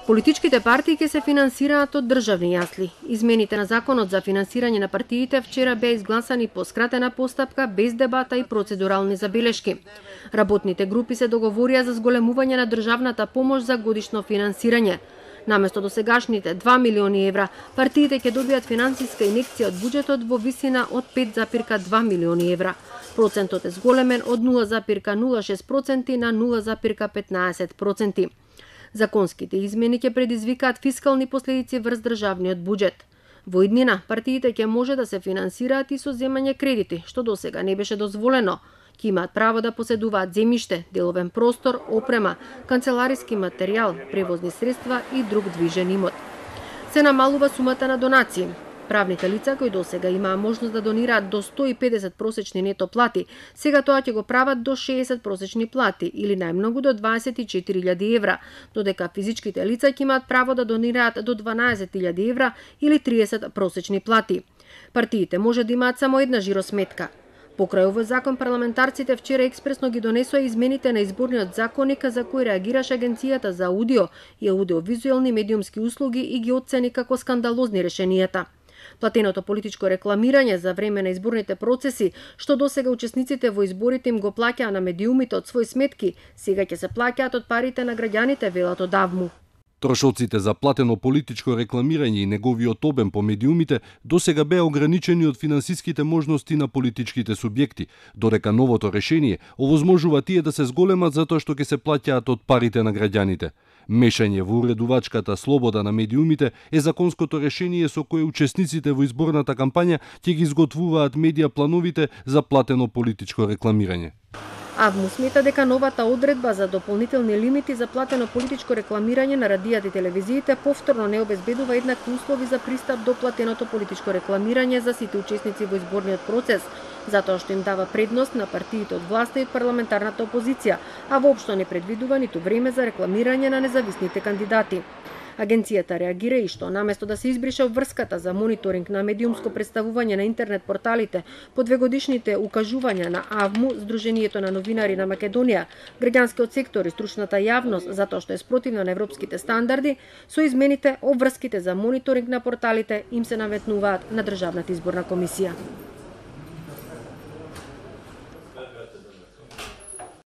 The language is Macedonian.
Политичките партии ќе се финансираат од државни јасли. Измените на законот за финансирање на партиите вчера беа изгласани по скратена постапка, без дебата и процедурални забелешки. Работните групи се договорија за зголемување на државната помош за годишно финансирање. Наместо досегашните 2 милиони евра, партиите ќе добијат финансиска инекција од буџетот во висина од 5,2 милиони евра. Процентот е зголемен од 0,06% на 0,15%. Законските измени ќе предизвикаат фискални последици врз државниот буџет. Во иднина, партиите ќе може да се финансираат и со земање кредити, што досега не беше дозволено. Ќе имаат право да поседуваат земјиште, деловен простор, опрема, канцелариски материјал, превозни средства и друг движен имот. Се намалува сумата на донации. Правните лица кои досега имаа можност да донираат до 150 просечни нето плати, сега тоа ќе го прават до 60 просечни плати или најмногу до 24.000 евра, додека физичките лица ќе имаат право да донираат до 12.000 евра или 30 просечни плати. Партиите може да имаат само една жиросметка. Покрај овој закон, парламентарците вчера експресно ги донесоа измените на изборниот законник за кој реагираше Агенцијата за аудио и аудиовизуелни медиумски услуги и ги оцени како скандалозни решенијата. Платеното политичко рекламирање за време на изборните процеси, што досега учесниците во изборите им го плаќаа на медиумите од своји сметки, сега ќе се плаќаат од парите на граѓаните, велат од АВМУ. Трошоците за платено политичко рекламирање и неговиот обем по медиумите досега беа ограничени од финансиските можности на политичките субјекти, додека новото решение овозможува тие да се зголемат затоа што ќе се плаќаат од парите на граѓаните. Мешање во уредувачката слобода на медиумите е законското решение со кое учесниците во изборната кампања ќе ги изготвуваат медија плановите за платено политичко рекламирање. АВМУ смета дека новата одредба за дополнителни лимити за платено политичко рекламирање на радијата и телевизиите повторно не обезбедува еднакви услови за пристап до платеното политичко рекламирање за сите учесници во изборниот процес, затоа што им дава предност на партиите од власта и од парламентарната опозиција, а воопшто не предвидува ниту време за рекламирање на независните кандидати. Агенцијата реагира и што наместо да се избрише врската за мониторинг на медиумско представување на интернет порталите по двегодишните укажувања на АВМУ, Сдруженијето на новинари на Македонија, граѓанскиот сектор и стручната јавност затоа што е спротивна на европските стандарди, со измените обврските за мониторинг на порталите им се наметнуваат на Државната изборна комисија.